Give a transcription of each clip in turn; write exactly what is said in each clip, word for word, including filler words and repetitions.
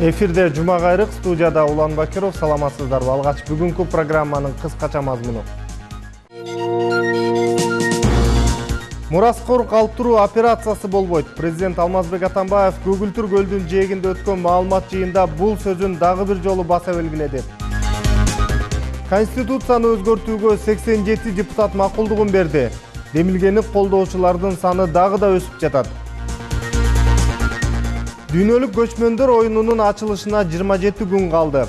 Эфирде Жума кайрык, студияда Улан Бакиров. Саламатсыздарбы? Алгач бүгүнкү программанын кыскача мазмуну. Мураскор калтыруу операциясы болбойт. Президент Алмазбек Атамбаев Көгүлтүр көлдүн жээгинде өткөн маалымат жыйында бул сөзүн дагы бир жолу баса белгиледи. Конституцияны өзгөртүүгө сексен жети депутат макулдугун берди. Демилгени колдоочулардын саны дагы да өсүп жатат. Дүйнөлүк көчмөндөр оюнунун ачылышына жыйырма жети күн калды.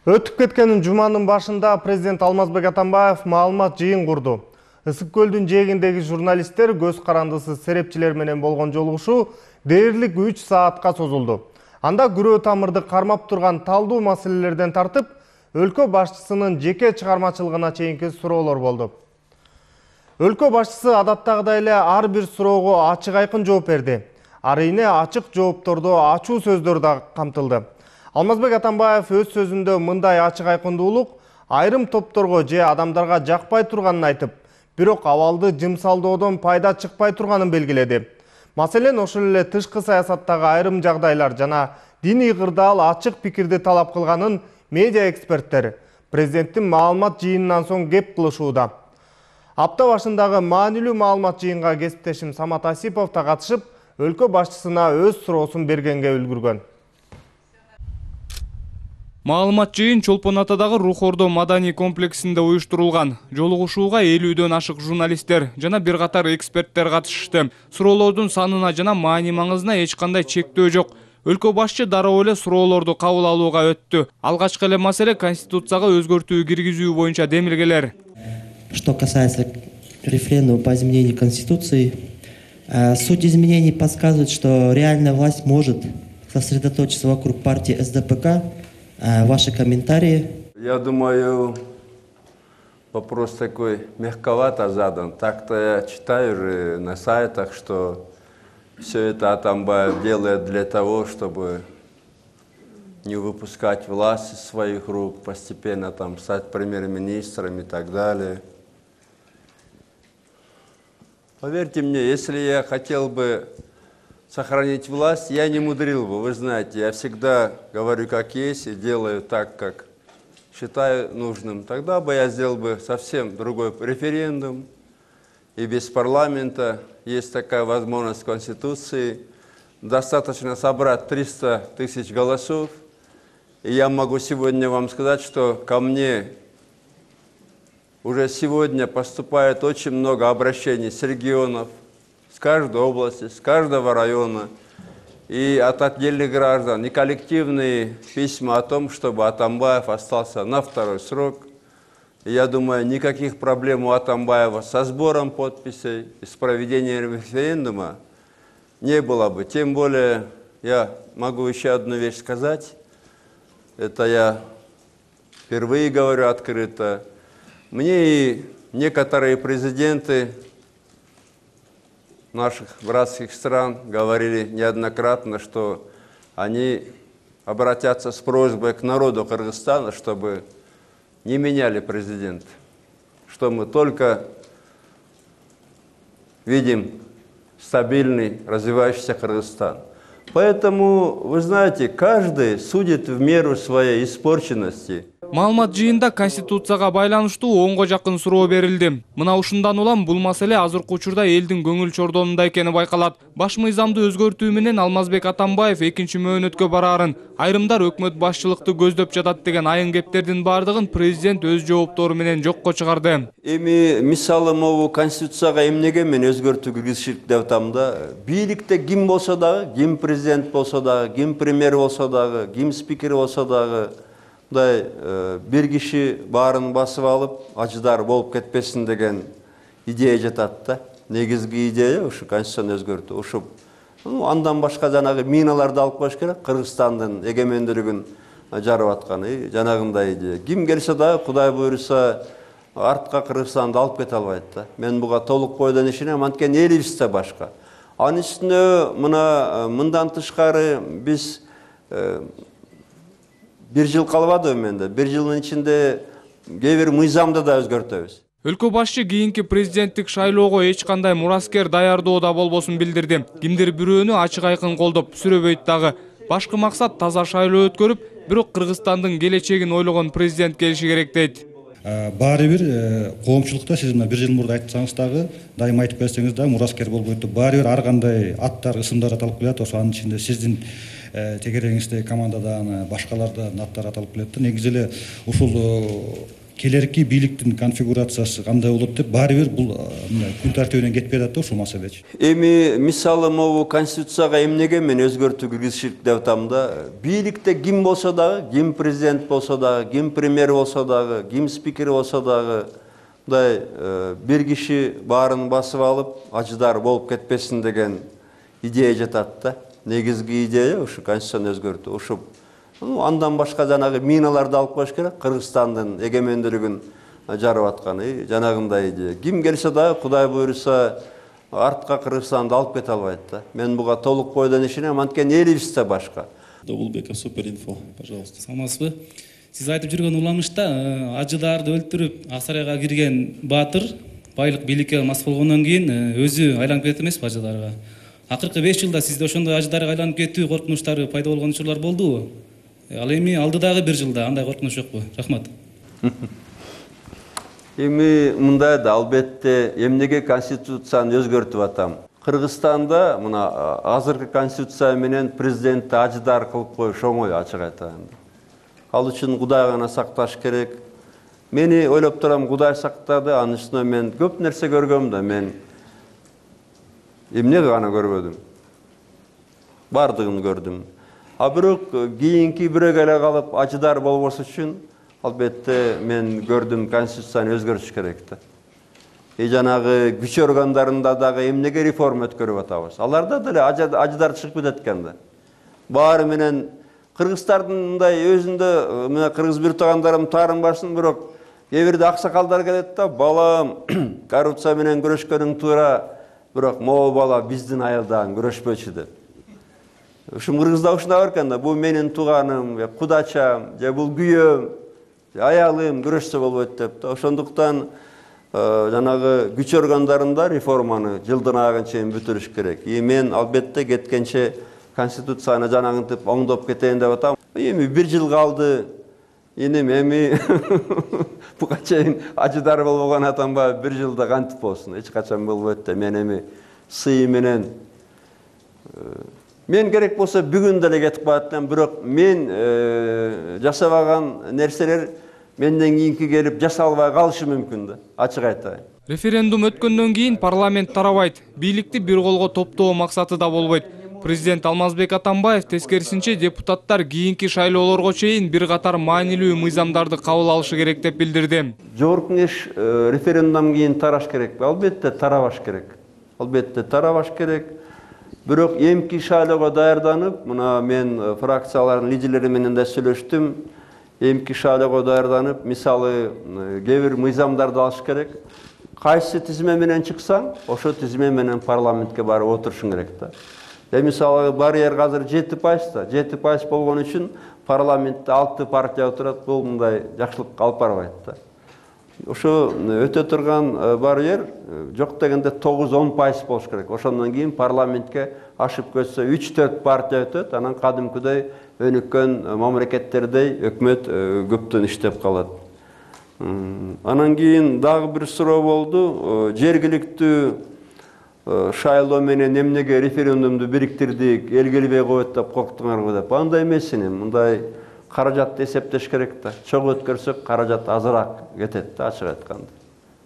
Өтүп кеткен жуманын башында президент Алмазбек Атамбаев маалымат жыйын курду. Ысык көлдүн жээгиндеги журналисттер көз карандысыз серепчилер менен болгон жолугушуу дээрлик үч саатка созулду. Анда күрөө тамырды кармап турган талдуу маселелерден тартып, өлкө башчысынын жеке чыгармачылыгына чейинки суроолор болду. Өлкө башчысы адаттагыдай эле ар бир суроого ачык айкын жооп берди. Арийне ачык жооптордо ачуу сөздөр да камтылды. Алмазбек Атамбаев өз сөзүндө мындай ачык айкындуулук айрым топторго же адамдарга жакпай турганын айтып, бирок абалды жымсалдоодон пайда чыкпай турганын белгиледи. Маселен, ошол эле тышкы саясаттагы айрым жагдайлар жана диний кырдаал ачык пикирди талап кылганын медиа эксперттер президенттин маалымат жыйынынан соң кеп кылышууда. Апта башындагы маанилүү маалымат жыйынга кесиптешим Самат Асипов да катышып, өлкө башчысына өз суроосун бергенге үлгүргөн. Маалымат жыйын Чолпон Атадагы Рух Ордо маданий комплексинде уюштурулган. Жолугушууга элүүдөн ашык журналисттер жана бир катар эксперттер катышышты. Суроолордун санына жана маани маңызына эч кандай чектөө жок. Өлкө башчы дароо эле суроолорду кабыл алууга өттү. Алгачкы эле маселе Конституцияга өзгөртүү киргизүү боюнча демилгелер. Что касается референдума по изменению Конституции, суть изменений подсказывает, что реальная власть может сосредоточиться вокруг партии эс дэ пэ ка. Ваши комментарии? Я думаю, вопрос такой мягковато задан. Так-то я читаю же на сайтах, что все это Атамбаев делает для того, чтобы не выпускать власть из своих рук, постепенно там стать премьер-министром и так далее. Поверьте мне, если я хотел бы сохранить власть, я не мудрил бы. Вы знаете, я всегда говорю как есть и делаю так, как считаю нужным. Тогда бы я сделал бы совсем другой референдум. И без парламента есть такая возможность в Конституции. Достаточно собрать триста тысяч голосов. И я могу сегодня вам сказать, что ко мне уже сегодня поступает очень много обращений с регионов, с каждой области, с каждого района, и от отдельных граждан, и коллективные письма о том, чтобы Атамбаев остался на второй срок. И я думаю, никаких проблем у Атамбаева со сбором подписей и с проведением референдума не было бы. Тем более, я могу еще одну вещь сказать, это я впервые говорю открыто. Мне и некоторые президенты наших братских стран говорили неоднократно, что они обратятся с просьбой к народу Кыргызстана, чтобы не меняли президента, что мы только видим стабильный, развивающийся Кыргызстан. Поэтому, вы знаете, каждый судит в меру своей испорченности. Маалымат жыйында Конституцияга байланыштуу онго жакын суроо берилди. Мына ушундан улам бул маселе азыркы учурда элдин көңүл чордонунда экени байкалат. Баш мыйзамды өзгөртүү менен Алмазбек Атамбаев экинчи мөөнөткө бараарын, айрымдар өкмөт башчылыкты көздөп жатат деген айын кептердин бардыгын президент өз жооптору менен жокко чыгарды. Эми мисалы могу Конституцияга эмнеге мен өзгөртүү киргизишик деп атам да. Бийликте ким болсо дагы, ким президент болсо дагы, ким премьер болсо дагы, ким спикер болсо дагы, мындай бир киши баарын басып алып, ажыдар болуп кетпесин деген идея жатат да. Негизги идея ушу Конституцияны өзгөртүү. Ушу андан башка жанагы миналарды алып коюш керек, Кыргызстандын эгемендүүлүгүн жарып аткан и жанагындай идея. Ким келсе дагы, Кудай буйруса, артка Кыргызстанды алып кете албайт да. Мен буга толук бойдон ишенем, анткени элибиз да башка. Анын үстүнө мына мындан тышкары биз бир жыл калбады менде. Бир жылдын ичинде кээ бир мыйзамды да өзгөртөбүз. Өлкө башчы кийинки президенттик шайлоого эч кандай мураскер даярдоодо болбосун билдирди. Кимдир бирөөнү ачык айкын колдоп сүрөбөйт дагы. Башкы максат таза шайлоо өткөрүп, бирок Кыргызстандын келечегин ойлогон президент келиши керек дейт. Баары бир коомчулукта сиз мына бир жыл мурда айтсаңыз дагы, дайыма айтып берсеңиз дагы мураскер болбойт. Баары бир ар кандай аттар, ысымдар аталып келет. Ошо анын ичинде сиздин тегереңиздеги командадан башкалардан аттар аталып келет. Негизи эле ушул келерки бийликтин конфигурациясы кандай болот деп баары бир бул күн тартибинен кетпей атат да ушул маселечи. Эми мисалы могу конституцияга эмнеге мен өзгөртүү киргизишик деп атам да, бийликте ким болсо дагы, ким президент болсо дагы, ким премьер болсо дагы, ким спикер болсо дагы, мындай бир киши баарын басып алып, ажыдар болуп кетпесин деген идея жатат да. Негизги идея ушу конституцияны өзгөртүү. Ушу андан башка жанагы миналарды алып коюш керек, Кыргызстандын эгемендүүлүгүн жарып аткан, жанагындай идея. Ким келсе дагы, Кудай буйруса, артка Кыргызстанды алып кете албайт да. Мен буга толук бойдон ишенем, анткени элибизде башка. Добулбеков, Суперинфо, пожалуйста. Саламатсызбы? Сиз айтып жүргөн уламышта ажыдарды өлтүрүп, ак сарайга кирген баатыр байлык бийликке мас болгондон кийин өзү айланып кетет эмеспи ажыдарга? Акыркы беш жылда сизде ошондой ажыдарга айланып кетүү коркунучтары пайда болгон учурлар болдубу? Ал эми алдыдагы бир жылда андай коркунуч жокпу? Рахмат. Эми мындай да, албетте эмнеге конституцияны өзгөртүп атам? Кыргызстанда мына азыркы конституция менен президентти ажыдар кылып коюш оңой, ачык айтайын. Ал үчүн Кудай гана сакташ керек. Мени ойлоп турам, Кудай сактады, анын үстүнө мен көп нерсе көргөм да, мен эмне гана көрбөдүм. Бардыгын көрдүм. А бирок кийинки бирөөгө эле калып ажыдар болбош үчүн албетте мен көрдүм, конституцияны өзгөртүш керек да. И жанагы күч органдарында дагы эмнеге реформа өткөрүп атабыз? Аларда деле ажыдар чыгып кетет экен да. Баары менен кыргыздардын мындай өзүндө мына кыргыз бир туугандарым таарынбасын, бирок кээ бирде аксакалдар келет да, балам, коррупция менен күрөшкөнүң туура, бирок могу бала биздин айылдан күрөшпөчү деп. Ушум кыргызда ушундай бар экен да, бул менин тууганым, кудачам, же бул күйөөм, аялым күрөшсө болбойт деп да. Ошондуктан жанагы күч органдарында реформаны жылдын айына чейин бүтүрүш керек. И мен албетте кеткенче конституцияны жанагынтип оңдоп кетейин деп атам. Эми бир жыл калды. Энем эми буга чейин ажыдар болбогон атамба бир жылда кантип болсун? Эч качан болбойт да. Мен эми сый менен мен керек болсо бүгүн деле кетип калат, бирок мен жасабаган нерселер менден кийинки келип жасалбай калышы мүмкүн да, ачык айтайын. Референдум өткөндөн кийин парламент тарабайт, бийликти бир колго топтоо максаты да болбойт. Президент Алмазбек Атамбаев тескерисинче депутаттар кийинки шайлоолорго чейин бир катар маанилүү мыйзамдарды кабыл алышы керек деп билдирди. Жогорку кеңеш референдумдан кийин тараш керек. Албетте тарабаш керек. Албетте тарабаш керек. Бирок эмки шайлоого даярданып, мына мен фракциялардын лидерлери менен да сүйлөштүм. Эмки шайлоого даярданып, мисалы кээ бир мыйзамдарды алыш керек. Кайсы тизме менен чыксаң, ошо тизме менен парламентке барып отурушуң керек да. Э мисалы барьер азыр жети пайыз да, жети пайыз болгон үчүн парламентте алты партия отурат, бул мындай жакшылыкка алып барбайт да. Ошо өтө турган барьер жок дегенде тогуз он пайыз болуш керек. Ошондон кийин парламентке ашып кетсе үч төрт партия өтөт, анан кадимкидей өнүккөн мамлекеттердей өкмөт көптөн иштеп калат. Анан кийин дагы бир суроо болду. Жергиликтүү шайлоо менен эмнеге референдумду бириктирдик, эл келбей коет деп корктуңарбы деп. Андай эмес эми, мындай каражатты эсептеш керек да. Чоң өткөрсөк каражат азыраак кетет да, ачык айтканда.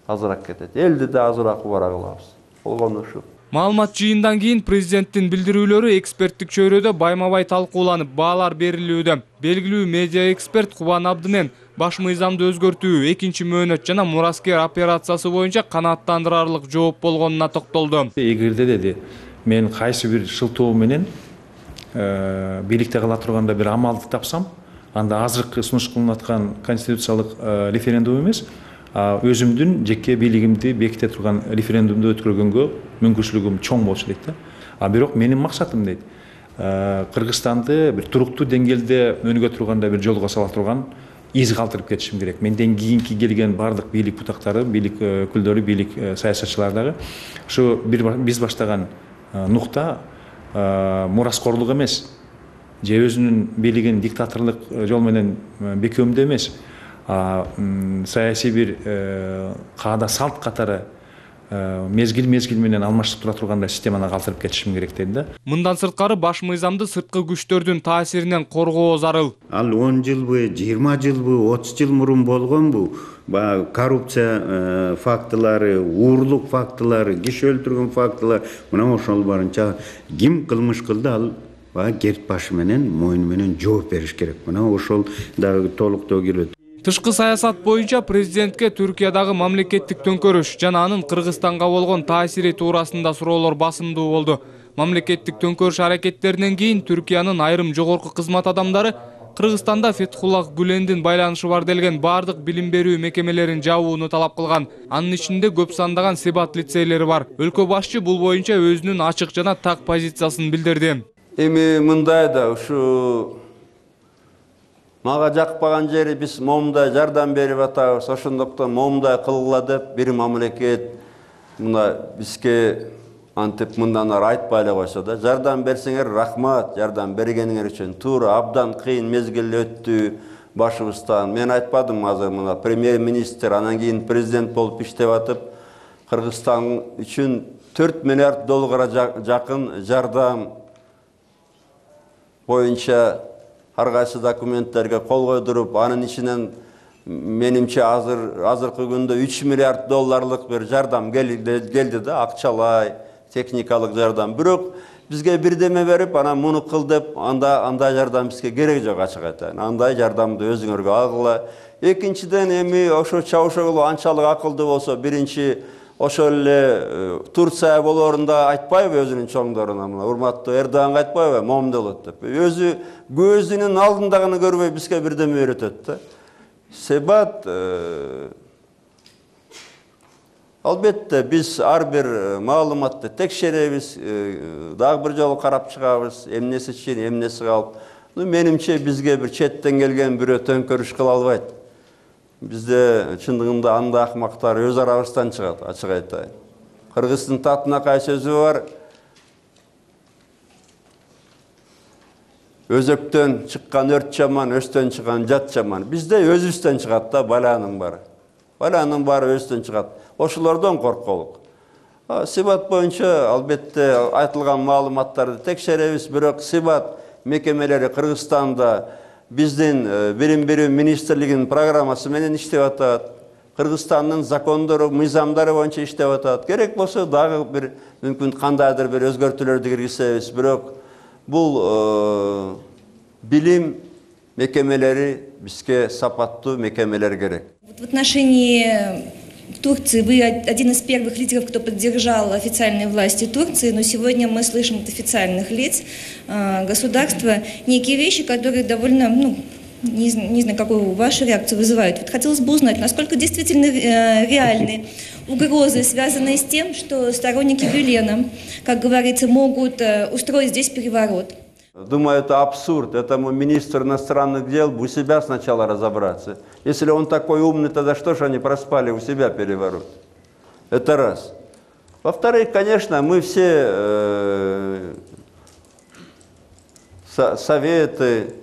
Азыраак кетет. Элди да азыраак убара кылабыз. Болгону ушу. Маалымат жыйындан кийин президенттин билдирүүлөрү эксперттик чөйрөдө байма-бай талкууланып, баалар берилүүдө. Белгилүү медиа эксперт Кубан Абдынен баш мыйзамды өзгөртүү экинчи мөөнөт жана мураскер операциясы боюнча канааттандырарлык жооп болгонуна токтолду. Эгерде деди, мен кайсы бир шылтоо менен бийликте кала турганда бир амалды тапсам, анда азыркы сунуш кылынып аткан конституциялык референдум эмес, өзүмдүн жеке бийлигимди беките турган референдумду өткөргөнгө мүмкүнчүлүгүм чоң болчу дейт да. А бирок менин максатым дейт, Кыргызстанды бир туруктуу деңгээлде өнүгө турганда бир жолго сала турган из калтырып кетишим керек. Менден кийинки келген бардык бийлик бутактары, бийлик өкүлдөрү, бийлик саясатчылар дагы ушу биз баштаган нукта мураскорлук эмес, же өзүнүн бийлигин диктаторлук жол менен бекемдөө эмес, а саясий бир каада салт катары мезгил мезгил менен алмашып тура тургандай системаны калтырып кетишим керек дейт да. Мындан сырткары баш мыйзамды сырткы күчтөрдүн таасиринен коргоо зарыл. Ал он жылбы, жыйырма жылбы, отуз жыл мурун болгонбу? Баягы коррупция фактылары, уурлук фактылары, киши өлтүргөн фактылар, мына ошол барынча ким кылмыш кылды, ал баягы керт башы менен, мойну менен жооп бериш керек. Мына ошол дагы толуктоо кирет. Тышкы саясат боюнча президентке Түркиядагы мамлекеттик төңкөрүш жана анын Кыргызстанга болгон таасири туурасында суроолор басымдуу болду. Мамлекеттик төңкөрүш аракеттеринен кийин Түркиянын айрым жогорку кызмат адамдары Кыргызстанда Фетхуллах Гүлендин байланышы бар делген бардык билим берүү мекемелерин жабууну талап кылган. Анын ичинде көп сандаган Себат лицейлери бар. Өлкө башчы бул боюнча өзүнүн ачык жана так позициясын билдирди. Эми мындай да ушу мага жакпаган жери биз момундай жардам берип атабыз, ошондуктан момундай кылгыла деп бир мамлекет мына бизге антип мындан ары айтпай эле койсо да, жардам берсеңер рахмат, жардам бергениңер үчүн. Туура абдан кыйын мезгил өттү башыбыздан. Мен айтпадым азыр мына премьер-министр анан кийин президент болуп иштеп атып, Кыргызстан үчүн төрт миллиард долларга жакын жардам боюнча ар кайсы документтерге кол койдуруп, анын ичинен менимче азыр азыркы күндө үч миллиард долларлык бир жардам келди да, акчалай, техникалык жардам. Бирок бизге бирдеме берип, анан муну кыл деп, анда андай жардам бизге керек жок, ачык айтайын. Андай жардамды өзүңөргө алгыла. Экинчиден, эми ошо Чавушоглу анчалык акылдуу болсо, биринчи ошол эле Турция болоорунда айтпайбы өзүнүн чоңдоруна, мына урматтуу Эрдоганга айтпайбы, момундай болот деп. Өзү көзүнүн алдындагыны көрбөй бизге бирдеме үйрөтөт да. Себат албетте биз ар бир маалыматты текшеребиз, дагы бир жолу карап чыгабыз, эмнеси чын, эмнеси калп. Менимче бизге бир четтен келген бирөө төңкөрүш кыла албайт. Бизде чындыгында андай акмактар өз арабыздан чыгат, ачык айтайын. Кыргыздын татынакай сөзү бар. Өзөктөн чыккан өрт жаман, өстөн чыккан жат жаман. Бизде өзүбүздөн чыгат да, баланын бары. Баланын бары өзүдөн чыгат. Ошолордон корколук. Себат боюнча албетте айтылган маалыматтарды текшеребиз, бирок Себат мекемелери Кыргызстанда биздин билим берүү министрлигинин программасы менен иштеп атат. Кыргызстандын закондору, мыйзамдары боюнча иштеп атат. Керек болсо дагы бир мүмкүн кандайдыр бир өзгөртүүлөрдү киргизебиз. Бирок бул билим мекемелери бизге сапаттуу мекемелер керек. В отношении Турции вы один из первых лидеров, кто поддержал официальные власти Турции, но сегодня мы слышим от официальных лиц государства некие вещи, которые довольно, ну, не, не знаю, какую вашу реакцию вызывают. Вот хотелось бы узнать, насколько действительно реальны угрозы, связанные с тем, что сторонники Гülена, как говорится, могут устроить здесь переворот. Думаю, это абсурд. Этому министр иностранных дел у себя сначала разобраться. Если он такой умный, тогда что же они проспали у себя переворот? Это раз. Во-вторых, конечно, мы все э, со советы,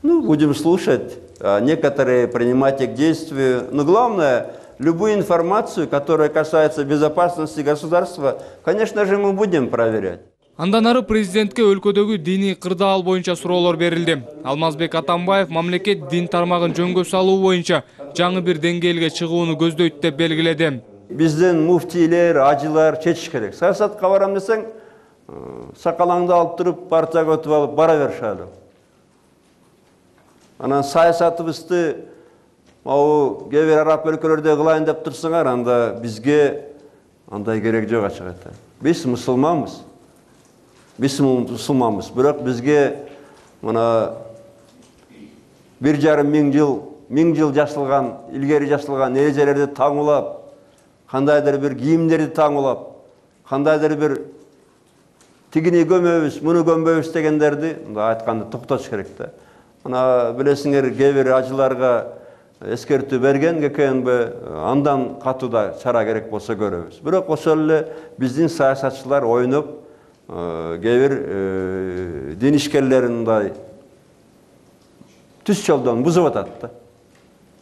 ну, будем слушать, а некоторые принимать их к действию. Но главное, любую информацию, которая касается безопасности государства, конечно же, мы будем проверять. Андан ары президентке өлкөдөгү диний кырдаал боюнча суроолор берилди. Алмазбек Атамбаев мамлекет дин тармагын жөнгө салуу боюнча жаңы бир деңгээлге чыгууну көздөйт деп белгиледи. Биздин муфтийлер, ажылар чечиш керек. Саясатка барам десең, сакалаңды алып туруп, партияга өтүп алып бара беришали. Анан саясатыбызды могу кээ бир араб өлкөлөрдө кылайын деп турсаңар, анда бизге андай керек жок, ачык айтайын. Биз мусулманбыз. Биз мусулманбыз, бирок бизге мына бир жарым миң жыл, миң жыл жашылган, илгери жашылган эрежелерди таңуулап, кандайдыр бир кийимдерди таңуулап, кандайдыр бир тигини көмөбүз, муну көмбөбүз дегендерди айтканды токтотуш керек да. Ана билесиңер, кээ бир ажыларга эскертүү берген ККНБ, андан катууда чара керек болсо көрөбүз. Бирок ошол эле биздин саясатчылар ойноп, кээ бир дин ишкерлерин мындай түз жолдон бузуп атат да.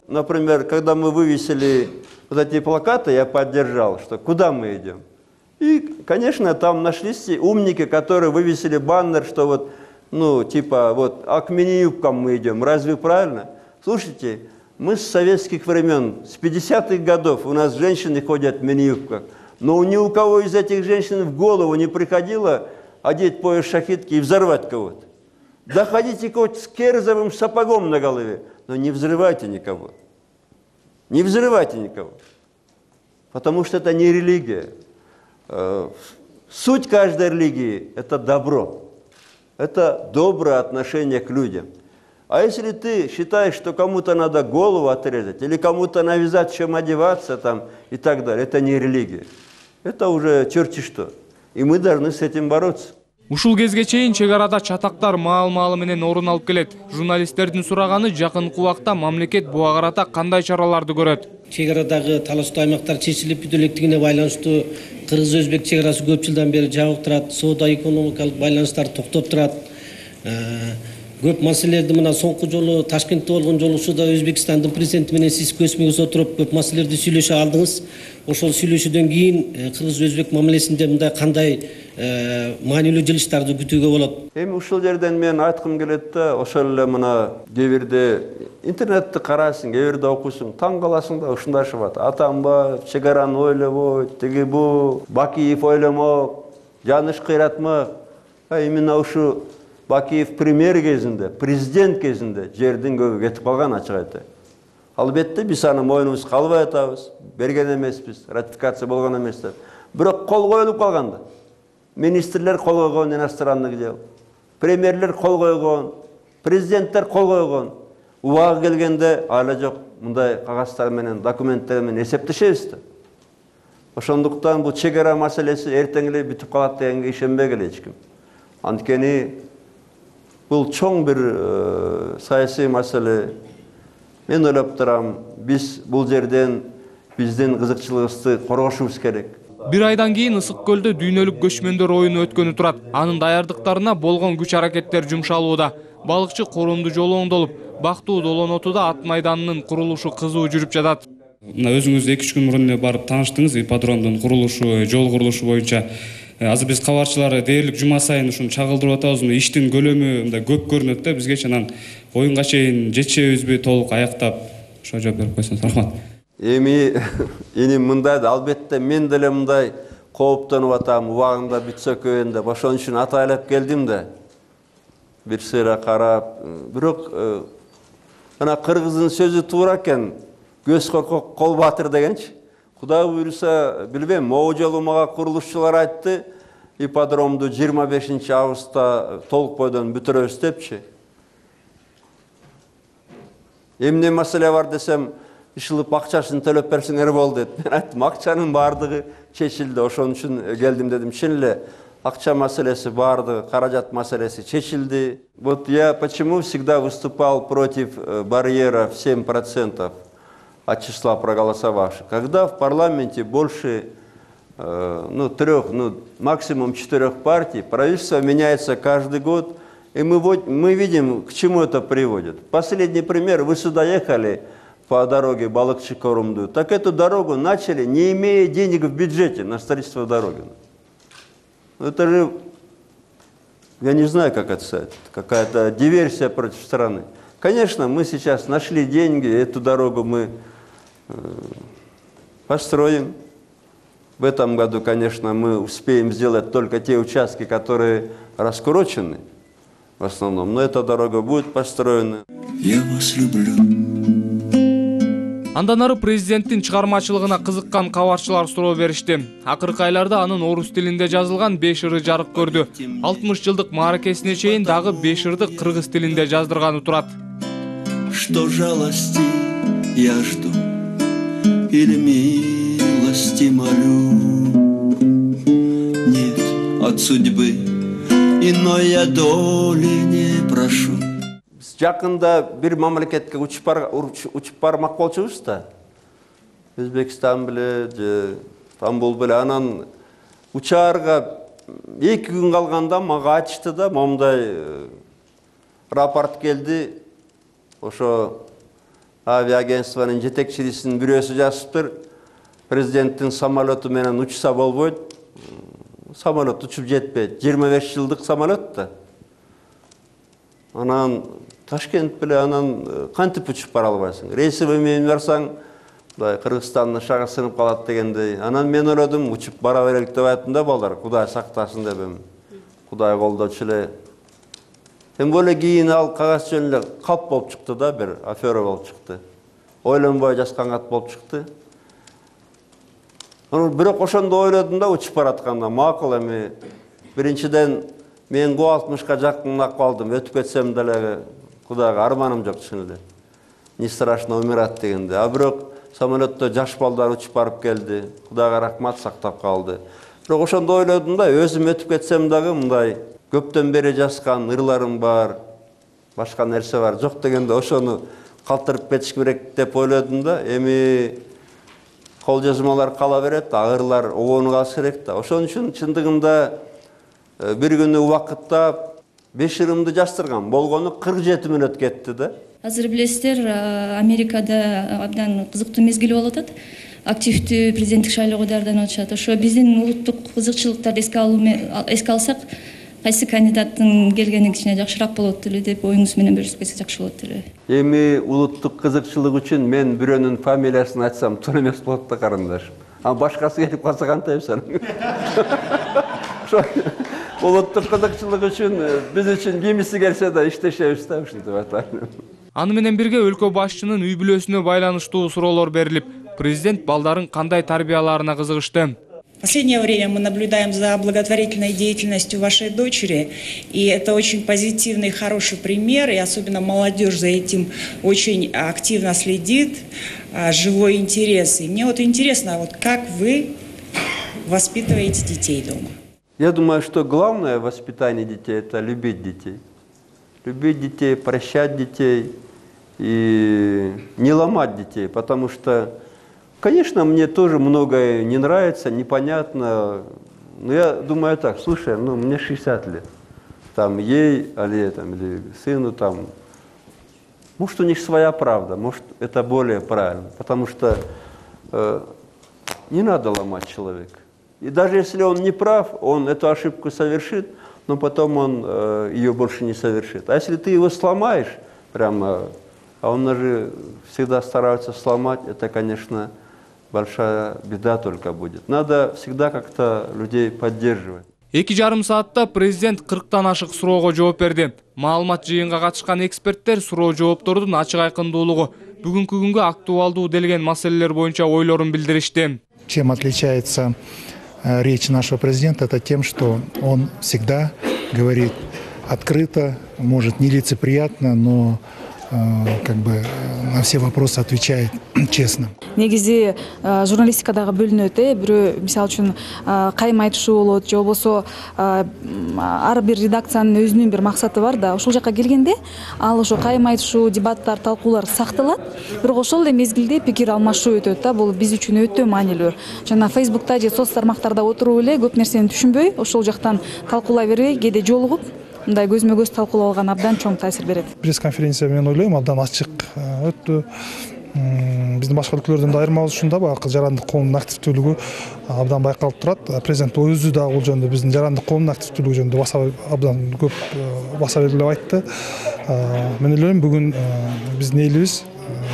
Например, когда мы вывесили вот эти плакаты, я поддержал, что куда мы идем. И, конечно, там нашлись умники, которые вывесили баннер, что вот, ну, типа, вот, а к мини-юбкам мы идем. Разве правильно? Слушайте, мы с советских времен, с пятидесятых годов у нас женщины ходят в мини-юбках. Но ни у кого из этих женщин в голову не приходило одеть пояс шахидки и взорвать кого-то. Да ходите хоть с керзовым сапогом на голове, но не взрывайте никого. Не взрывайте никого. Потому что это не религия. Суть каждой религии – это добро. Это доброе отношение к людям. А если ты считаешь, что кому-то надо голову отрезать, или кому-то навязать, чем одеваться там, и так далее, это не религия. Это уже черти что. И мы должны с этим бороться. Ушул кезге чейин чек арада чатактар маал-маалы менен орун алып келет. Журналисттердин сураганы жакынкы убакта мамлекет буга карата кандай чараларды көрөт? Чек арадагы талаштуу аймактар чечилип бүтө электигине байланыштуу кыргыз-өзбек чек арасы көп жылдан бери жабык турат, соода экономикалык байланыштар токтоп турат. Көп маселелерди мына соңку жолу Ташкентте болгон жолугушууда Өзбекстандын президенти менен сиз көзмө көз отуруп көп маселелерди сүйлөшө алдыңыз. Ошол сүйлөшүүдөн кийин кыргыз-өзбек мамилесинде мындай кандай маанилүү жылыштарды күтүүгө болот? Эми ушул жерден мен айткым келет да, ошол эле мына кээ бирде интернетти карайсың, кээ бирде окуйсуң, таң каласың да, ушундай шыбат. Атамбаев чек араны ойлобойт, тиги бу, Бакиев ойломок, Жаныш кыйратмак. Именно ушу Бакиев премьер кезинде, президент кезинде жердин көбү кетип калган, ачык айтайын. Албетте биз аны мойнубузга албай атабыз, берген эмеспиз, ратификация болгон эмес деп. Бирок кол коюлуп калганда. Министрлер кол койгон иностранный дел, премьерлер кол койгон, президенттер кол койгон. Убагы келгенде ала жок мындай кагаздар менен, документтер менен эсептешебиз да. Ошондуктан бул чек ара маселеси эртең эле бүтүп калат дегенге ишенбегиле эч ким. Анткени бул чоң бир саясий маселе. Мен ойлоп турам, биз бул жерден биздин кызыкчылыгыбызды коргошубуз керек. Бир айдан кийин Ысык көлдө дүйнөлүк көчмөндөр оюну өткөнү турат. Анын даярдыктарына болгон күч аракеттер жумшалууда. Балыкчы коромду жолу оңдолуп, Бактуу Долонотуда ат майданынын курулушу кызуу жүрүп жатат. Мына өзүңүз эки үч күн мурун барып тааныштыңыз ипподромдун курулушу, жол курулушу боюнча. Азыр биз кабарчылар дээрлик жума сайын ушуну чагылдырып атабыз. Иштин көлөмү мындай көп көрүнөт да, бизге чанан оюнга чейин жетишебизби толук аяктап, ошо жооп берип койсоңуз рахмат. Эми эми мындай да, албетте мен деле мындай кооптонуп атам, убагында бүтсө көйөн деп, ошон үчүн атайлап келдим да. Бир сыйра карап, бирок ана кыргыздын сөзү туура экен. Көз коркок, кол батыр дегенчи. Кудай буйруса, билбейм, могу жолу мага курулушчулар айтты, ипподромду жыйырма бешинчи августта толук бойдон бүтүрөбүз депчи. Эмне маселе бар десем, ишылып акчасын төлөп берсеңер болду деп. Мен айттым, акчанын баардыгы чечилди, ошон үчүн келдим дедим. Чын эле акча маселеси баардыгы, каражат маселеси чечилди. Вот я почему всегда выступал против барьера в семь процентов от числа проголосовавших. Когда в парламенте больше ну, трех, ну, максимум четырех партий, правительство меняется каждый год, и мы, мы видим, к чему это приводит. Последний пример, вы сюда ехали по дороге Балыкчы-Корумду, так эту дорогу начали, не имея денег в бюджете на строительство дороги. Это же, я не знаю, как это сказать, какая-то диверсия против страны. Конечно, мы сейчас нашли деньги, эту дорогу мы построим. В этом году, конечно, мы успеем сделать только те участки, которые раскурочены в основном, но эта дорога будет построена. Я вас люблю. Андан ары президенттин чыгармачылыгына кызыккан кабарчылар суроо беришти. Акыркы айларда анын орус тилинде жазылган беш ыры жарык көрдү. алтымыш жылдык мааракесине чейин дагы беш ырды кыргыз тилинде жаздырганы турат. Что жалости я жду или милости молю, нет от судьбы иной я доли не прошу. жакында бир мамлекетке учуп учуп бармак болчубуз да. Өзбекстан беле же Стамбул беле, анан учаарга эки күн калганда мага айтышты да, момундай рапорт келди. Ошо авиагентствонун жетекчисинин бирөөсү жазыптыр. Президенттин самолету менен учса болбойт. Самолет учуп жетпейт. жыйырма беш жылдык самолет да. Анан Ташкент беле анан кантип учуп бара албайсың? Рейсовый менен барсаң, мындай Кыргызстандын шагы сынып калат дегендей. Анан мен ойлодум, учуп бара берелик деп айттым да, балдар, Кудай сактасын деп эми. Кудай колдочу эле. Тем более кийин ал кагаз жөн эле калп болуп чыкты да, бир афера болуп чыкты. Ойлонбой жазган кат болуп чыкты. Анан бирок ошондо ойлодум да, учуп баратканда макул эми. Биринчиден мен алтымышка жакын акыбалдым, өтүп кетсем деле Кудайга арманым жок чын эле. Не страшно умирать дегенде. А бирок самолетто жаш балдар учуп барып келди. Кудайга рахмат, сактап калды. Бирок ошондо ойлодум да, өзүм өтүп кетсем дагы мындай көптөн бери жазган ырларым бар, башка нерсе бар, жок дегенде ошону калтырып кетиш керек деп ойлодум да. Эми кол жазмалар кала берет, агырлар огону калыш керек да. Ошон үчүн чындыгында бир күнү убакытта беш ырымды жаздырган. Болгону кырк жети мүнөт кетти да. Азыр билесиздер, Америкада абдан кызыктуу мезгил болуп атат. Активдүү президенттик шайлоого даярданып атышат. Ошо биздин улуттук кызыкчылыктарды эске алсак, кайсы кандидаттын келгени кичине жакшыраак болот эле деп оюңуз менен бөлүшүп кетсек жакшы болот эле. Эми улуттук кызыкчылык үчүн мен бирөөнүн фамилиясын айтсам туура эмес болот да, карындаш. А башкасы келип калса кантайсың? Улуттук кызыкчылык үчүн биз үчүн кимиси келсе да иштешебиз да, ушинтип атайын. Аны менен бирге өлкө башчынын үй бүлөсүнө байланыштуу суроолор берилип, президент балдарын кандай тарбияларына кызыгышты. В последнее время мы наблюдаем за благотворительной деятельностью вашей дочери, и это очень позитивный, хороший пример, и особенно молодежь за этим очень активно следит, живой интерес. И мне вот интересно, вот как вы воспитываете детей дома? Я думаю, что главное в воспитании детей – это любить детей. Любить детей, прощать детей и не ломать детей, потому что, конечно, мне тоже многое не нравится, непонятно. Но я думаю так, слушай, ну мне шестьдесят лет, там ей, или, там, или сыну, там, может, у них своя правда, может, это более правильно, потому что э, не надо ломать человека. И даже если он не прав, он эту ошибку совершит, но потом он э, ее больше не совершит. А если ты его сломаешь, прямо, а он же всегда стараются сломать, это, конечно, большая беда только будет. Надо всегда как-то людей поддерживать. Эки жарым саатта президент кырктан ашык суроого жооп берди. Маалымат жыйынга катышкан эксперттер суроо жооптордун ачык айкындуулугу, бүгүнкү күнгө актуалдуу делген маселелер боюнча ойлорун билдиришти. Чем отличается речь нашего президента, это тем, что он всегда говорит открыто, может нелицеприятно, но как бы на все вопросы отвечает честно. Негизи журналистикадагы бөлүнөт, э, бирөө мисалы үчүн кайым айтышуу болот, же болбосо ар бир редакциянын өзүнүн бир максаты бар да. Ошол жакка келгенде ал ошо кайым айтышуу, дебаттар, талкуулар сакталат, бирок ошол эле мезгилде пикир алмашуу өтөт да. Бул биз үчүн өтө маанилүү. Жана Facebook'та же соц тармактарда отуруп эле көп нерсени түшүнбөй, ошол жактан талкуулай бербей, кээде жолугуп, мындай көзмө көз талкуулап алган абдан чоң таасир берет. Пресс-конференция мен ойлойм абдан ачык өттү. Биздин башка өлкөлөрдөн да айырмабыз ушунда, баягы жарандык коомдун активдүүлүгү абдан байкалып турат. Президент өзү да бул жөнүндө биздин жарандык коомдун активдүүлүгү жөнүндө баса абдан көп баса белгилеп айтты. Мен ойлойм бүгүн биздин элибиз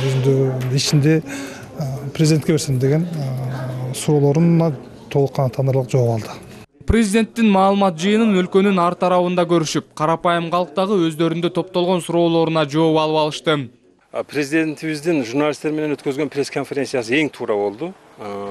өзүнүн ичинде президентке берсем деген суроолоруна толук кана таандырылык жооп алды. Президенттин маалымат жыйынын өлкөнүн ар тарабында көрүшүп, карапайым калктагы өздөрүндө топтолгон суроолоруна жооп алып алышты. Президентибиздин журналисттер менен өткөзгөн пресс-конференциясы эң туура болду.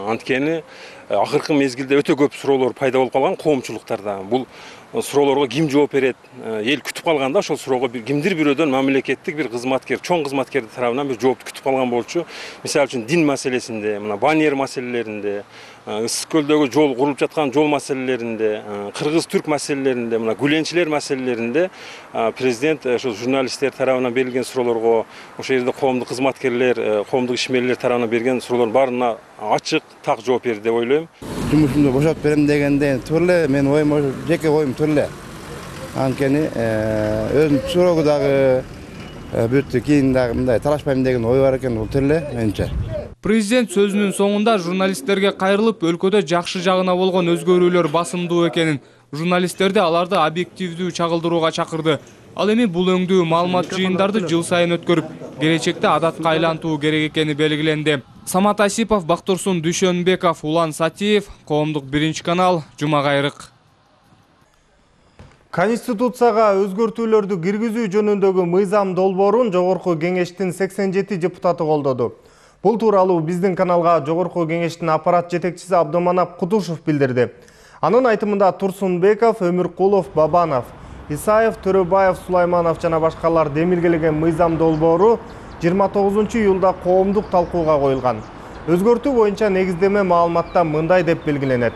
Анткени акыркы мезгилде өтө көп суроолор пайда болуп калган коомчулуктарда. Бул суроолорго ким жооп берет, эл күтүп калганда ошол суроого бир кимдир бирөөдөн мамлекеттик бир кызматкер, чоң кызматкер тарабынан бир жоопту күтүп калган болчу. Мисалы үчүн дин маселесинде, мына банер маселелеринде, Ысык көлдөгү жол курулуп жаткан жол маселелеринде, кыргыз-түрк маселелеринде, мына гүленчилер маселелеринде президент ошо журналисттер тарабынан берилген суроолорго, ошол жерде коомдук кызматкерлер, коомдук ишмерлер тарабынан берген суроолордун баарына ачык, так жооп берди деп ойлойм. Жумушумду бошотуп берем дегенде турле менин оюм, жеке оюм турле. Анткени өзүм суроого дагы бүттү, кийин дагы мындай талашпайм деген ой бар экен, бул турле менимче. Президент сөзүнүн соңунда журналисттерге кайрылып, өлкөдө жакшы жагына болгон өзгөрүүлөр басымдуу экенин, журналисттерди аларды объективдүү чагылдырууга чакырды. Ал эми бул өңдүү маалымат жыйындарды жыл сайын өткөрүп, келечекте адатка айлантуу керек экени белгиленди. Самат Асипов, Бактурсун Дүйшөнбеков, Улан Сатиев, Коомдук биринчи канал, Жума кайрык. Конституцияга өзгөртүүлөрдү киргизүү жөнүндөгү мыйзам долбоорун Жогорку кеңештин сексен жети депутаты колдоду. Бул тууралуу биздин каналга Жогорку кеңештин аппарат жетекчиси Абдыманап Кутушев билдирди. Анын айтымында Турсунбеков, Өмүркулов, Бабанов, Исаев, Төрөбаев, Сулайманов жана башкалар демилгелеген мыйзам долбоору жыйырма тогузунчу июлда коомдук талкууга коюлган. Өзгөртүү боюнча негиздеме маалыматта мындай деп белгиленет.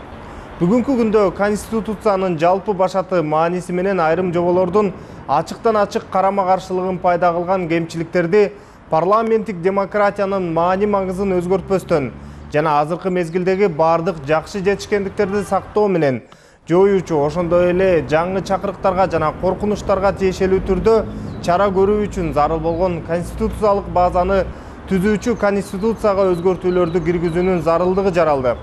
Бүгүнкү күндө Конституциянын жалпы башаты мааниси менен айрым жоболордун ачыктан ачык карама-каршылыгын пайда кылган кемчиликтерди парламенттик демократиянын маани маңызын өзгөртпөстөн жана азыркы мезгилдеги бардык жакшы жетишкендиктерди сактоо менен жоюучу, ошондой эле жаңы чакырыктарга жана коркунучтарга тиешелүү түрдө чара көрүү үчүн зарыл болгон конституциялык базаны түзүүчү Конституцияга өзгөртүүлөрдү киргизүүнүн зарылдыгы жаралды.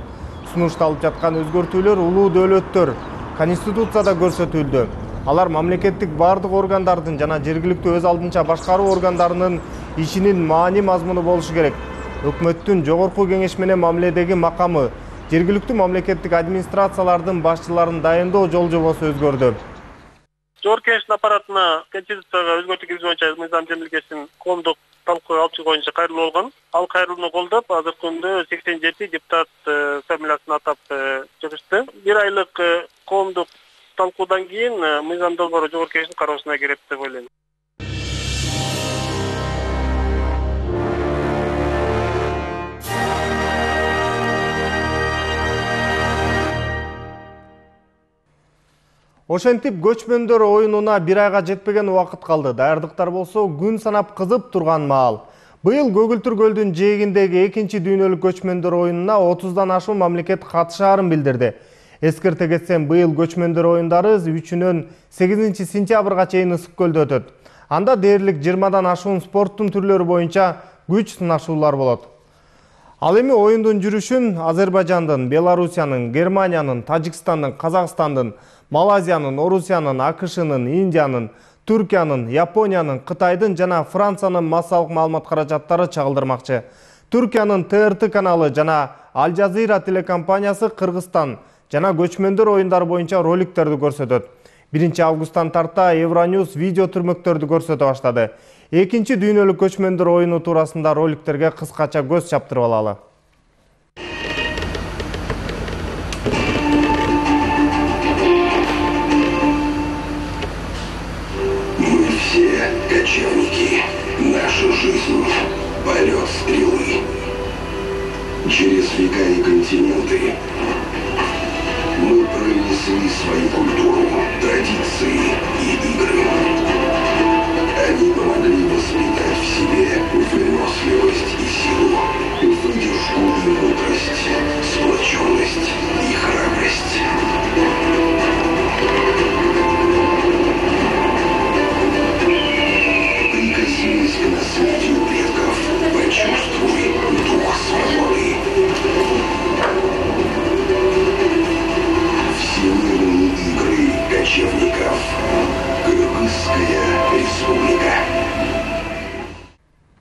Сунушталып жаткан өзгөртүүлөр улуу дөөлөттөр Конституцияда көрсөтүлдү. Алар мамлекеттик бардык органдардын жана жергиликтүү өз алдынча башкаруу органдарынын ишинин маани мазмуну болушу керек. Өкмөттүн Жогорку кеңеш менен мамиледеги макамы, жергиликтүү мамлекеттик администрациялардын башчыларын дайындоо жол жобосу өзгөрдү. Жогорку кеңештин аппаратына Конституцияга өзгөртүү киргизүү боюнча мыйзам жөнөтүлгесин коомдук талкуу алып чыгуу боюнча кайрылуу болгон. Ал кайрылууну колдоп, азыркы күндө сексен жети депутат фамилиясын атап чыгышты. Бир айлык коомдук талкуудан кийин мыйзам долбоору Жогорку кеңештин кароосуна кирет деп ойлойм. Ошентип көчмөндөр оюнуна бир айга жетпеген убакыт калды. Даярдыктар болсо күн санап кызып турган маал. Быйыл Көгүлтүр көлдүн жээгиндеги экинчи дүйнөлүк көчмөндөр оюнуна отуздан ашуун мамлекет катышаарын билдирди. Эскерте кетсем, быйыл көчмөндөр оюндары үчүнөн сегизинчи сентябрга чейин Ысык көлдө өтөт. Анда дээрлик жыйырмадан ашуун спорттун түрлөрү боюнча күч сынашуулар болот. Ал эми оюндун жүрүшүн Азербайжандын, Белоруссиянын, Германиянын, Тажикстандын, Казакстандын, Малайзиянын, Орусиянын, АКШнын, Индиянын, Түркиянын, Япониянын, Кытайдын жана Франциянын массалык маалымат каражаттары чагылдырмакчы. Түркиянын Т Р Т каналы жана Аль Жазира телекомпаниясы Кыргызстан жана көчмөндөр оюндары боюнча роликтерди көрсөтөт. биринчи августтан тарта Евроньюз видео түрмөктөрдү көрсөтө баштады. Экинчи дүйнөлүк көчмөндөр оюну туурасында роликтерге кыскача көз чаптырып алалы. Мы все кочевники. Наша жизнь — полет стрелы. Через века и континенты мы пронесли свою культуру, традиции и игры. Они помогли воспитать в себе выносливость и силу, выдержку и мудрость, сплоченность и храбрость. Прикоснись к наследию предков, почувствуй дух свободы. Всемирные игры кочевников. Кыргызская республика.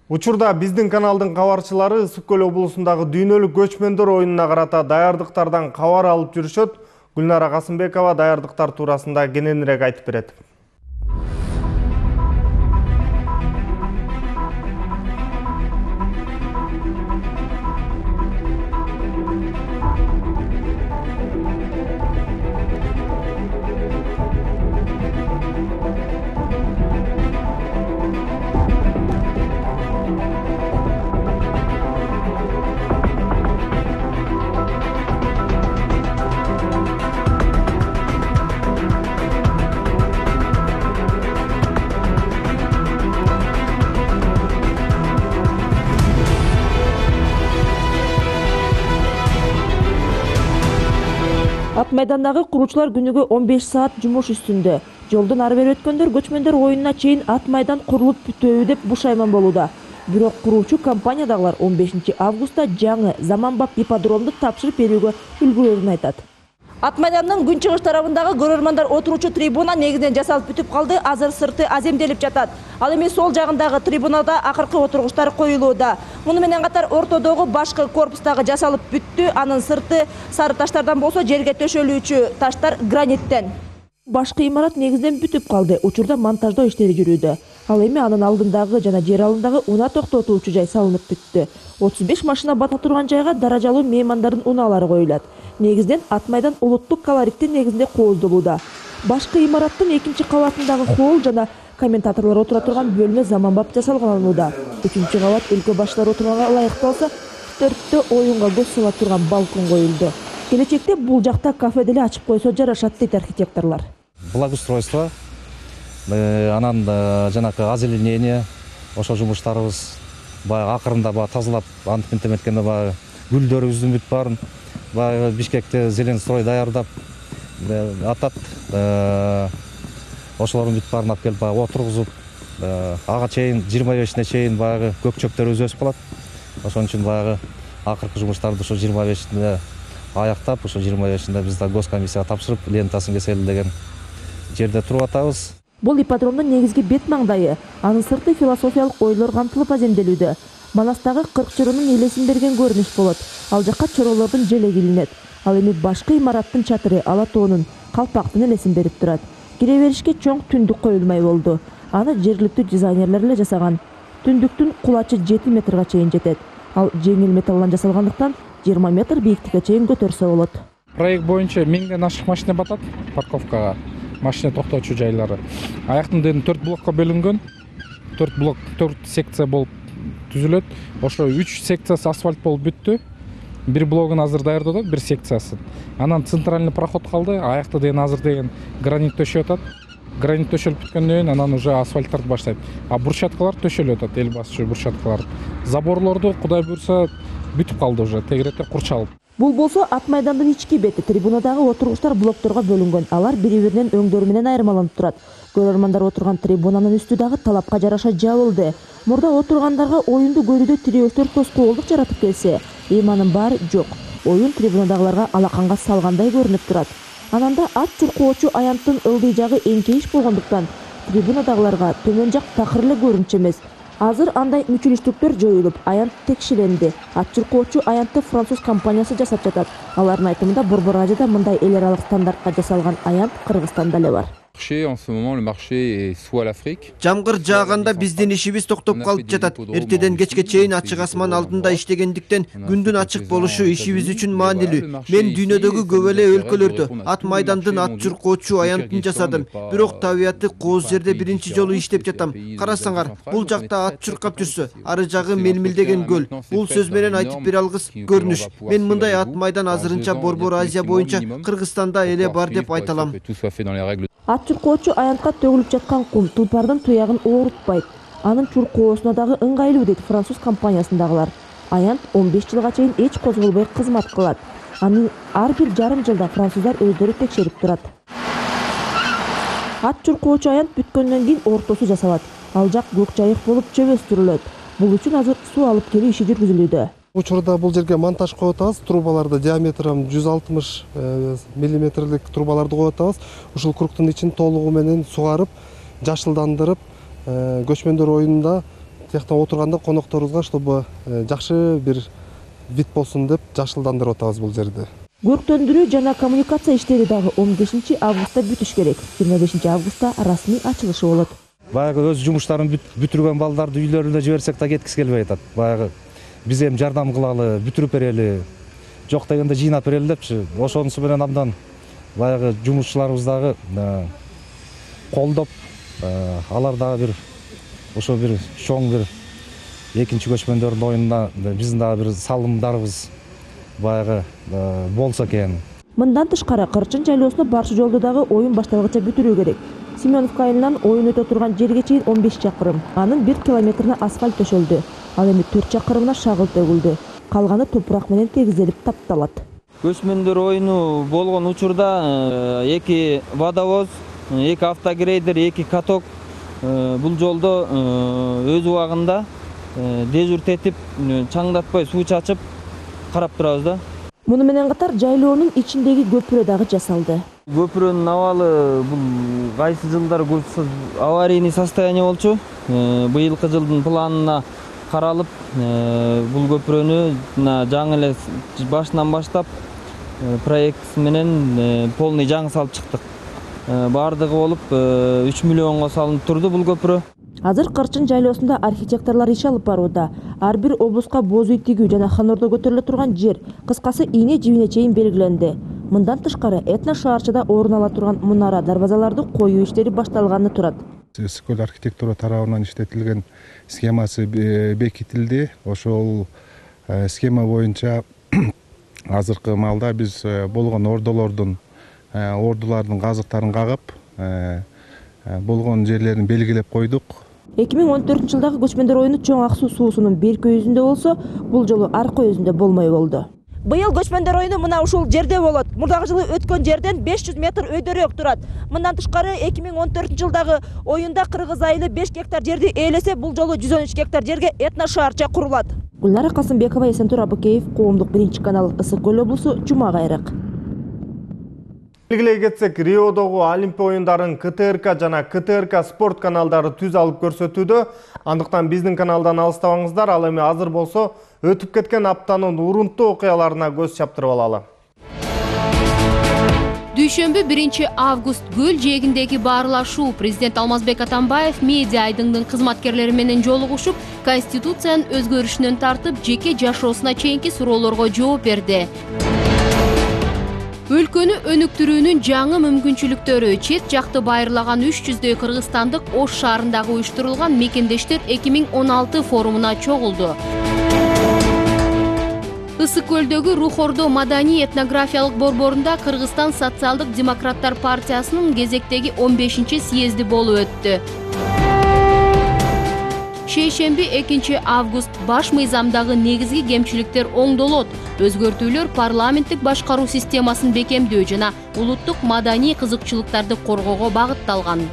Учурда биздин каналдын кабарчылары Ысык көл облусундагы дүйнөлүк көчмөндөр оюнуна карата даярдыктардан кабар алып жүрүшөт. Гүлнара Касымбекова даярдыктар туурасында кененирээк айтып берет. майдандагы куруучулар күнүгө он беш саат жумуш үстүндө. Жолдон ары бери өткөндөр көчмөндөр оюнуна чейин ат майдан курулуп бүтөбү деп бушайман болууда. Бирок куруучу компаниядагылар он бешинчи августта жаңы заманбап ипподромду тапшырып берүүгө үлгүрөөрүн айтат. Ат майдандын күнчыгыш тарабындагы көрөрмандар отуручу трибуна негизинен жасалып бүтүп калды, азыр сырты аземделип жатат. Ал эми сол жагындагы трибунада акыркы отургучтар коюлууда. Муну менен катар ортодогу башкы корпустагы жасалып бүттү, анын сырты сары таштардан болсо жерге төшөлүүчү таштар граниттен. Башкы имарат негизинен бүтүп калды, учурда монтаждоо иштери жүрүүдө. Ал эми анын алдындагы жана жер алындагы унаа токтотуучу жай салынып бүттү. отуз беш машина бата турган жайга даражалуу меймандардын унаалары коюлат. Негизинен ат майдан улуттук колориттин негизинде кооздолууда. Башкы имараттын экинчи кабатындагы холл жана комментаторлор отура турган бөлмө заманбап жасалганылууда. Үчүнчү кабат өлкө башчылары отурганга ылайыкталса, төрттө оюнга көз сала турган балкон коюлду. Келечекте бул жакта кафе деле ачып койсо жарашат дейт архитекторлор. Благоустройство, анан жанакы озеленение, ошо жумуштарыбыз баягы акырында баягы тазалап, антип эметкенде баягы гүлдөрүбүздүн бүт баарын баягы Бишкекте зелен строй даярдап атат. Ошолордун бүт баарын алып келип баягы отургузуп, ага чейин жыйырма бешине чейин баягы көкчөктөрүбүз өсүп калат. Ошон үчүн баягы акыркы жумуштарды ошо жыйырма бешинде аяктап, ошо жыйырма бешинде биз да госкомиссияга тапшырып, лентасын кесели деген жерде туруп атабыз. Бул ипподромдун негизги бет маңдайы, анын сырты философиялык ойлор камтылып аземделүүдө. Манастагы кырк чорунун элесин берген көрүнүш болот. Ал жакка чоролордун желеги илинет. Ал эми башкы имараттын чатыры ала тоонун, калпактын элесин берип турат. Кире беришке чоң түндүк коюлмай болду. Аны жергиликтүү дизайнерлер эле жасаган. Түндүктүн кулачы жети метрге чейин жетет. Ал жеңил металлдан жасалгандыктан жыйырма метр бийиктикке чейин көтөрсө болот. Проект боюнча миңден ашык машина батат парковкага. Машина токтоочу жайлары. Аяктын дени төрт блокко бөлүнгөн. төрт блок, төрт секция болуп түзүлөт. Ошо үч секциясы асфальт болуп бүттү. Бир блогун азыр даярдадык, бир секциясын. Анан центральный проход калды. Аякты деген азыр деген гранит төшөп атат. Гранит төшөлүп бүткөндөн кийин анан уже асфальттарды баштайт. А брусчаткалар төшөлүп атат, эл басчу брусчаткалар. Заборлорду Кудай буйрса бүтүп калды уже, тегеректе курчалып. Бул болсо ат майдандын ички бети, трибунадагы отургучтар блокторго бөлүнгөн. Алар бири-биринен өңдөрү менен айырмаланып турат. Көрөрмандар отурган трибунанын үстү дагы талапка жараша жабылды. Мурда отургандарга оюнду көрүүдө тирөөчтөр тоскоолдук жаратып келсе, эми анын баары жок. Оюн трибунадагыларга алаканга салгандай көрүнүп турат. Ананда ат чуркоочу аянттын ылдый жагы эңкейиш болгондуктан трибунадагыларга төмөн жак такыр эле көрүнчү эмес. Азыр андай мүчүлүштүктөр жоюлуп, аянт текшеленди. Ат чуркоочу аянтты француз компаниясы жасап жатат. Алардын айтымында Борбор Азияда мындай эл аралык стандартка жасалган аянт Кыргызстанда эле бар. En ce moment, le marché est soit l'Afrique. Жамгыр жааганда биздин ишибиз токтоп калып жатат. Эртеден кечке чейин ачык асман алдында иштегендиктен күндүн ачык болушу ишибиз үчүн маанилүү. Мен дүйнөдөгү көп эле өлкөлөрдө ат майдандын ат чуркоочу аянтын жасадым. Бирок табияты кооз жерде биринчи жолу иштеп жатам. Карасаңар, бул жакта ат чуркап жүрсө, ары жагы мелмилдеген көл. Бул сөз менен айтып бере алгыс көрүнүш. Мен мындай ат майдан азырынча Борбор Азия боюнча Кыргызстанда эле бар деп айта алам. Ат чуркоочу аянтка төгүлүп жаткан кум тулпардын туягын оорутпайт. Анын чуркоосуна дагы ыңгайлуу дейт француз компаниясындагылар. Аянт он беш жылга чейин эч козголбой кызмат кылат. Анын ар бир жарым жылда француздар өздөрү текшерип турат. Ат чуркоочу аянт бүткөндөн кийин ортосу жасалат. Ал жак көк жайык болуп чөбөстүрүлөт. Бул үчүн азыр суу алып келүү иши жүргүзүлүүдө. Учурда бул жерге монтаж коюп атабыз. Трубаларды диаметрин жүз алтымыш миллиметрлик трубаларды коюп атабыз. Ушул кругтун ичин толугу менен сугарып, жашылдандырып, көчмөндөр оюнунда тияктан отурганда конокторубузга чтобы жакшы бир вид болсун деп жашылдандырып атабыз бул жерди. Көрктөндүрүү жана коммуникация иштери дагы он бешинчи августта бүтүш керек. жыйырма бешинчи августта расмий ачылышы болот. Баягы өз жумуштарын бүтүргөн балдарды үйлөрүнө жиберсек да кеткиси келбей атат. Баягы биз эми жардам кылалы, бүтүрүп берели, жок дегенде жыйнап берели депчи. Ошонусу менен абдан баягы жумушчуларыбыз дагы колдоп, алар дагы бир ошо бир чоң бир экинчи көчмөндөрдүн оюнуна биздин дагы бир салымдарыбыз баягы болсо экен. Мындан тышкары Кырчын жайлоосуна барчу жолду дагы оюн башталгыча бүтүрүү керек. Семеновка айылынан оюн өтө турган жерге чейин он беш чакырым. Анын бир километрине асфальт төшөлдү. Ал эми төрт чакырымына шагыл төгүлдү. Калганы топурак менен тегизелип тапталат. Көчмөндөр оюну болгон учурда эки водовоз, эки автогрейдер, эки каток бул жолдо өз убагында дежурт этип, чаңдатпай суу чачып карап турабыз да. Муну менен катар жайлоонун ичиндеги көпүрө дагы жасалды. Көпүрөнүн абалы бул кайсы жылдары аварийный состояние болчу. Быйылкы жылдын планына каралып, бул көпүрөнү жаңы эле башынан баштап проект менен полный жаңы салып чыктык. Бардыгы болуп үч миллионго салынып турду бул көпүрө. Азыр Кырчын жайлоосунда архитекторлор иш алып барууда. Ар бир облуска боз үй тигүү жана Ханордо көтөрүлө турган жер, кыскасы ийне жибине чейин белгиленди. Мындан тышкары этно шаарчыда орун ала турган мунара дарбазаларды коюу иштери башталганы турат. Ысык-көл архитектура тарабынан иштетилген схемасы бекитилди. Ошол схема боюнча азыркы маалда биз болгон ордолордун ордулардын казыктарын кагып, болгон жерлерин белгилеп койдук. эки миң он төртүнчү жылдагы көчмөндөр оюну Чоң Ак Суу суусунун берки өзүндө болсо, бул жолу аркы өзүндө болмой болду. Быйыл көчмөндөр оюну мына ушул жерде болот. Мурдагы жылы өткөн жерден беш жүз метр өйдөрөөк турат. Мындан тышкары эки миң он төртүнчү жылдагы оюнда Кыргыз айылы беш гектар жерди ээлесе, бул жолу жүз он үч гектар жерге этно шаарча курулат. Гүлнара Касымбекова, Эсентур Абыкеев, Коомдук биринчи канал, Ысык-көл облусу, Жума кайрык. Белгилей кетсек, Риодогу Олимпия оюндарын К Т Р К жана К Т Р К спорт каналдары түз алып көрсөтүүдө. Андыктан биздин каналдан алыстабаңыздар. Ал эми азыр болсо өтүп кеткен аптанын урунттуу окуяларына көз чаптырып алалы. Дүйшөмбү биринчи август көл жээгиндеги баарлашуу. Президент Алмазбек Атамбаев медиа айдыңдын кызматкерлери менен жолугушуп, Конституциянын өзгөрүшүнөн тартып, жеке жашоосуна чейинки суроолорго жооп берди. Өлкөнү өнүктүрүүнүн жаңы мүмкүнчүлүктөрү чет жакты байырлаган үч жүздөй кыргызстандык Ош шаарындагы уюштурулган мекендештер эки миң он алты форумуна чогулду. Ысык-көлдөгү Рухордо маданий этнографиялык борборунда Кыргызстан социалдык демократтар партиясынын кезектеги он бешинчи съезди болуп өттү. Шейшемби экинчи август баш мыйзамдагы негизги кемчиликтер оңдолот. Өзгөртүүлөр парламенттик башкаруу системасын бекемдөө жана улуттук маданий кызыкчылыктарды коргоого багытталган.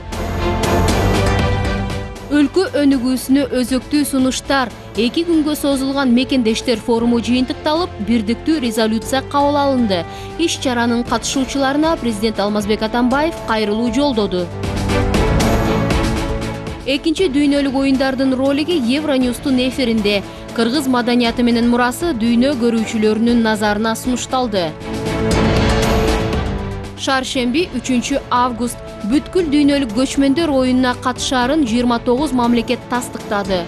Өлкө өнүгүүсүнө өзөктүү сунуштар, эки күнгө созулган мекендештер форуму жыйынтыкталып, бирдиктүү резолюция кабыл алынды. Иш чаранын катышуучуларына президент Алмазбек Атамбаев кайрылуу жолдоду. Экинчи дүйнөлүк оюндардын ролиги Евроньюстун эфиринде. Кыргыз маданияты менен мурасы дүйнө көрүүчүлөрүнүн назарына сунушталды. Шаршемби үчүнчү август бүткүл дүйнөлүк көчмөндөр оюнуна катышаарын жыйырма тогуз мамлекет тастыктады.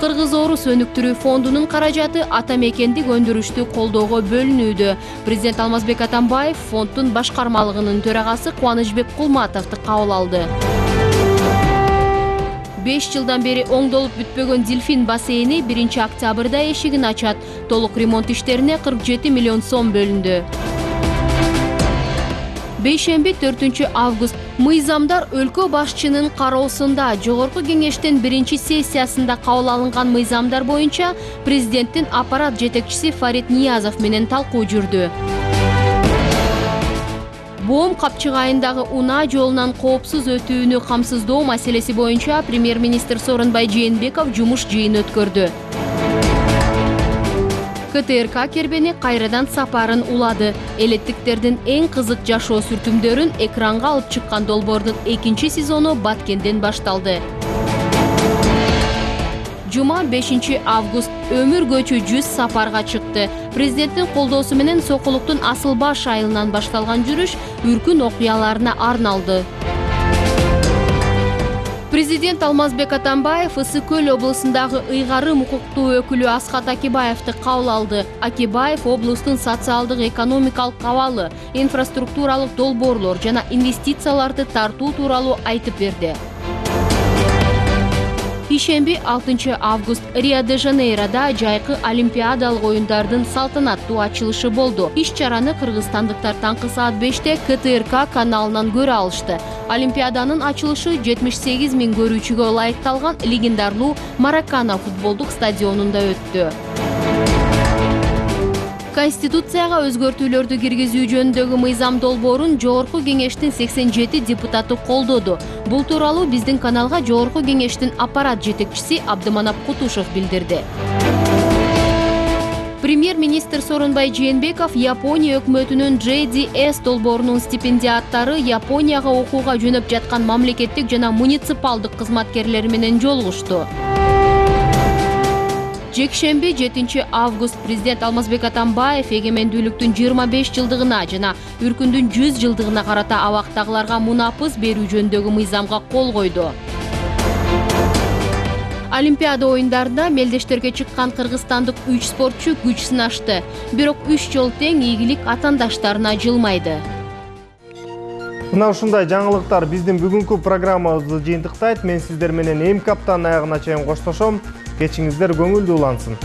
Кыргыз Орус өнүктүрүү фондунун каражаты ата мекендик өндүрүштү колдоого бөлүнүүдө. Президент Алмазбек Атамбаев фонддун башкармалыгынын төрагасы Кубанычбек Кулматовду кабыл алды. беш жылдан бери оңдолуп бүтпөгөн Дельфин бассейни биринчи октябрда эшигин ачат. Толук ремонт иштерине кырк жети миллион сом бөлүндү. Бейшемби төртүнчү август мыйзамдар өлкө башчынын кароосунда жогорку кеңештин биринчи сессиясында кабыл алынган мыйзамдар боюнча президенттин аппарат жетекчиси Фарид Ниязов менен талкуу жүрдү. Боом капчыгайындагы унаа жолунан коопсуз өтүүнү камсыздоо маселеси боюнча премьер-министр Сооронбай Жээнбеков жумуш жыйын өткөрдү. К Т Р К кербени кайрадан сапарын улады. Элеттиктердин эң кызык жашоо сүртүмдөрүн экранга алып чыккан долбоордун экинчи сезону Баткенден башталды. Жума бешинчи август өмүр көчү жүз сапарга чыкты. Президенттин колдоосу менен Сокулуктун Асыл баш айылынан башталган жүрүш үркүн окуяларына арналды. Президент Алмазбек Атамбаев Ысык-көл облусундагы ыйгарым укуктуу өкүлү Асхат Акибаевди кабыл алды. Акибаев облустун социалдык экономикалык абалы, инфраструктуралык долбоорлор жана инвестицияларды тартуу тууралуу айтып берди. Ишемби алтынчы август Рио-де-Жанейрода жайкы олимпиадалык оюндардын салтанаттуу ачылышы болду. Иш чараны кыргызстандыктар таңкы саат беште К Т Р К каналынан көрө алышты. Олимпиаданын ачылышы жетимиш сегиз миң көрүүчүгө ылайыкталган легендарлуу Маракана футболдук стадионунда өттү. Конституцияга өзгөртүүлөрдү киргизүү жөнүндөгү мыйзам долбоорун Жогорку кеңештин сексен жети депутаты колдоду. Бул тууралуу биздин каналга Жогорку кеңештин аппарат жетекчиси Абдыманап Кутушев билдирди. Премьер-министр Сооронбай Жээнбеков Япония өкмөтүнүн джей ди эс долбоорунун стипендиаттары Японияга окууга жөнөп жаткан мамлекеттик жана муниципалдык кызматкерлери менен жолугушту. Жекшемби жетинчи август президент Алмазбек Атамбаев эгемендүүлүктүн жыйырма беш жылдыгына жана үркүндүн жүз жылдыгына карата абактагыларга мунапыс берүү жөнүндөгү мыйзамга кол койду. Олимпиада оюндарында мелдештерге чыккан кыргызстандык үч спортчу күч сынашты. Бирок үч жол тең ийгилик атаандаштарына жылмайды. Мына ушундай жаңылыктар биздин бүгүнкү программабызды жыйынтыктайт. Мен сиздер менен эми аптанын аягына чейин коштошом. Кечиңиздер көңүлдүү улансын.